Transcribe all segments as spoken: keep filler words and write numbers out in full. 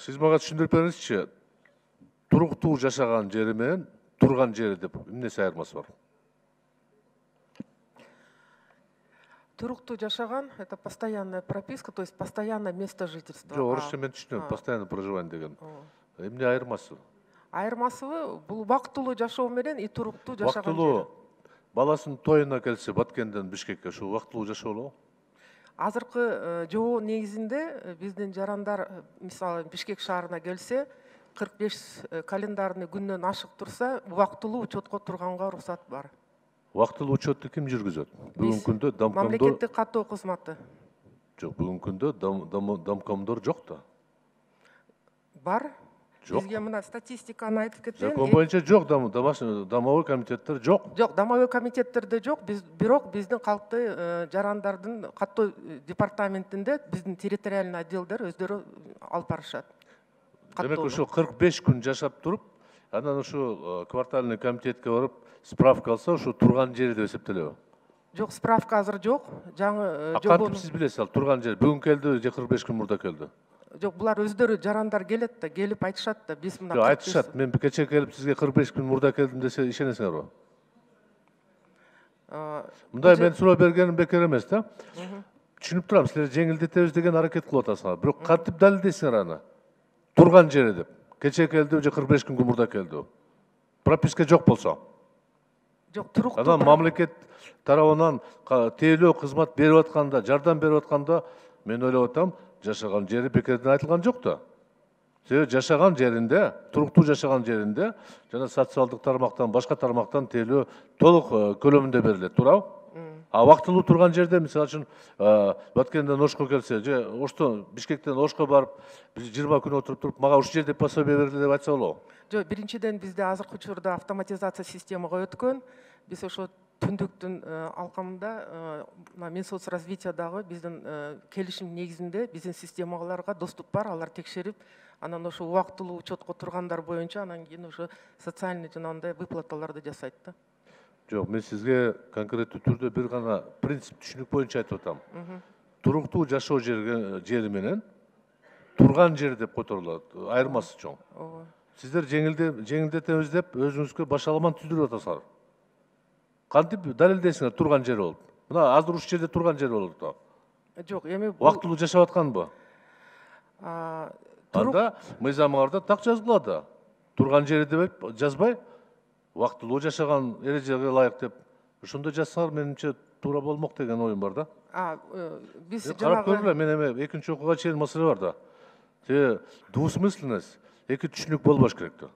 Сиз мага түшүндүрүп бериңизчи. Туруктуу жашаган жери менен турган жери деп эмнеси айырмасы бар? Туруктуу жашаган — это постоянная прописка, то есть постоянное место жительства. Жок, орусча мен түшүнөм, постоянное проживание деген. Эмне айырмасы? Айырмасы бул убактылуу жашоо менен и туруктуу жашаган жери. Убактылуу баласынын тоюна келсе Баткенден Бишкекке ушул убактылуу жашоо болобу? Азыркы жобо негизинде биздин жарандар мисалы Бишкек шаарына келсе, кырк беш календарный күндөн ашык турса, убактылуу учетко турганга уруксат бар. Убактылуу учетду ким жүргүзөт? Бүгүнкү күндө домкомдор. Мамлекеттик каттоо кызматы. Жок, бүгүнкү күндө домкомдор жок да. Бар. Жок. Бизге мына статистиканы айтып кетейин. Закон боюнча жок, домовой комитеттер жок. Жок, домовой комитеттерде жок, бирок биздин калкты жарандардын каттоо департаментинде биздин территориальный отделдер өздөрү алып барышат. Демек ошо кырк беш күн жашап туруп, анан ошо квартальный комитетке барып справка алса, ошо турган жери деп эсептелеби? Жок, справка азыр жок. Жаңы жобону. Кантип сиз билесиз ал турган жер? Бүгүн келди же кырк беш күн мурда келди? Жок, булар өздөрү жарандар келет да, келип айтышат да, биз мына. Жок, айтышат. Мен кече келип сизге кырк беш күн мурда келдим десе, ишенесиңерби? Мындай мен суроо бергеним бекер эмес да. Түшүнүп турам, силер жеңилдетебиз деген аракет кылып атасыңар. Бирок кантип далилдейсиңер аны? Турган жери деп. Кече келди же кырк беш күн мурда келди. Прописка жок болсо. Жок, туруктуу. Анан мамлекет тарабынан тейлөө кызмат берип атканда, жардам берип атканда, мен ойлоп атам, жашаган жери бекерден айтылган жок да. Себеби жашаган жеринде, туруктуу жашаган жеринде жана социалдык тармактан, башка тармактан тейлөө толук көлөмүндө берилет, туурабы? А убактылуу турган жерде, мисалы үчүн, Баткенден Ошко келсе, же Оштон, Бишкектен Ошко барып, жыйырма күн отуруп туруп, мага ушул жерде пособие берилди деп айтса болобу? Жок, биринчиден бизде азыркы учурда автоматизация системага өткөн. Биз ошо түндүктүн алкамында Минсоцразвитиядагы биздин келишим негизинде биздин системаларга доступ бар, алар текшерип, анан ошо убактылуу учетко тургандар боюнча анан кийин ошо социальный жанагындай выплаталарды жасайт да. Жок, мен сизге конкреттүү түрдө бир гана принцип түшүнүк боюнча айтып атам. Туруктуу жашоо жери менен турган жер деп которулат. Айырмасы чоң. Сиздер жеңилдетебиз деп өзүңүзгө башаламан түздүрүп атасыңар. Кантип далилдейсиңер турган жер болуп? Мына азыр ушул жерде турган жер болот да. Жок, эми убактылуу жашап атканбы? Анда мыйзамыңарда так жазылат да. Турган жери деп жазбай, убактылуу жашаган эрежеге ылайык деп. Ошондой жазсаңар, менимче туура болмок деген оюм бар да. А, биз карап көргүлө, мен эми экинчи окууга чейин маселе бар да. Те двусмысленность, эки түшүнүк болбош керек да.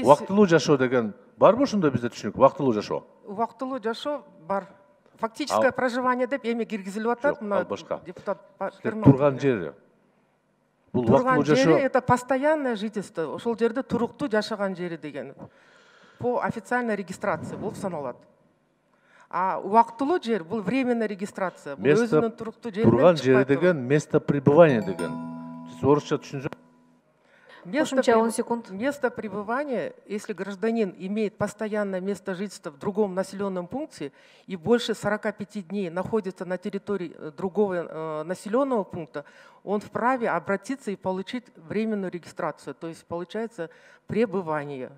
Убактылуу жашоо деген барбы ошондой бизде түшүнүк? Убактылуу жашоо. Убактылуу жашоо бар. Фактическое проживание деп эми киргизилип атат, мына депутат. Турган жери. Бул убактылуу жашоо. Турган жери — это постоянное жительство. Ошол жерде туруктуу жашаган жери деген. По официальной регистрации болуп саналат. А убактылуу жер бул временная регистрация. Бул өзүнүн туруктуу жеринен турган жери деген место пребывания деген. Сиз орусча түшүнсөңүз. Место пребывания, если гражданин имеет постоянное место жительства в другом населенном пункте и больше сорока пяти дней находится на территории другого населенного пункта, он вправе обратиться и получить временную регистрацию, то есть получается пребывание,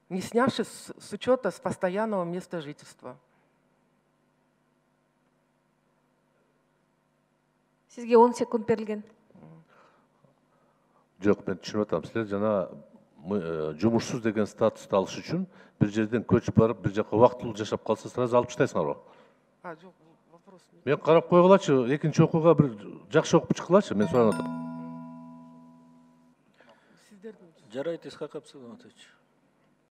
не снявшись с учета с постоянного места жительства. Сизге он секунд берилген. Жок, мен түшүнүп атам. Силер жана жумушсуз деген статусту алыш үчүн бир жерден көчүп барып, бир жака убактылуу жашап калса, сразу алып таштайсыңарбы? А, жок, вопрос. Мен карап койгулачы, экинчи окууга бир жакшы окуп чыккылачы, мен суранып атам. Жарайт, Исхак Абсаламатович.